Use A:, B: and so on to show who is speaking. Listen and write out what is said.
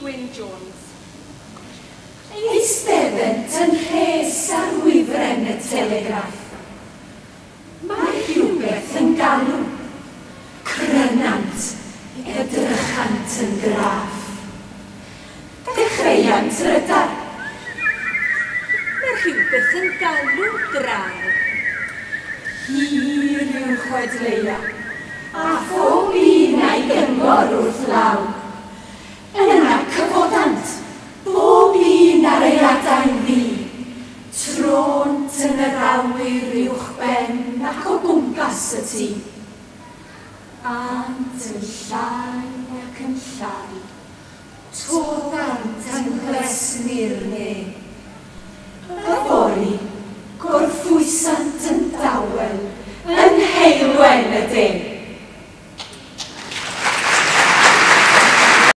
A: Gwyn Jones.
B: Eisteddent yn rhes ar wifren y telegraff. Mae rhywbeth yn galw. Crynant, edrychant yn graff. Dechreuant rydar.
A: Mae rhywbeth yn galw draw.
B: Hir yw'r chwedleia, a phob un a'i gyngor wrth law. Yna cyfodant, bob un ar ei adain ddu. Trônt yn yr awyr uwchben ac o gwmpas y tŷ. Ânt yn llai ac yn llai. Toddant yng nghlesni'r ne.